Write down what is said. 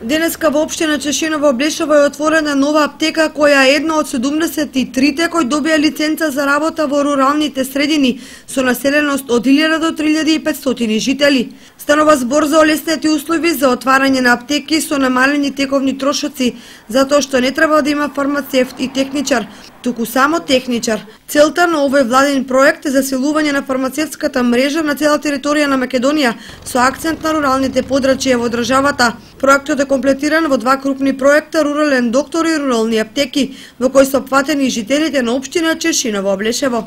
Денеска во општина Чешиново Облешево е отворена нова аптека која е една од 73-те кои добија лиценца за работа во руралните средини со населеност од 1000 до 3500 жители. Станува збор за олеснети услови за отварање на аптеки со намалени тековни трошоци, затоа што не треба да има фармацевт и техничар, туку само техничар. Целта на овој владин проект е засилување на фармацевтската мрежа на цела територија на Македонија со акцент на руралните подрачја во државата. Проектот е комплетиран во два крупни проекта Рурален доктор и рурални аптеки, во кои се опфатени жителите на општина Чешиново Облешево.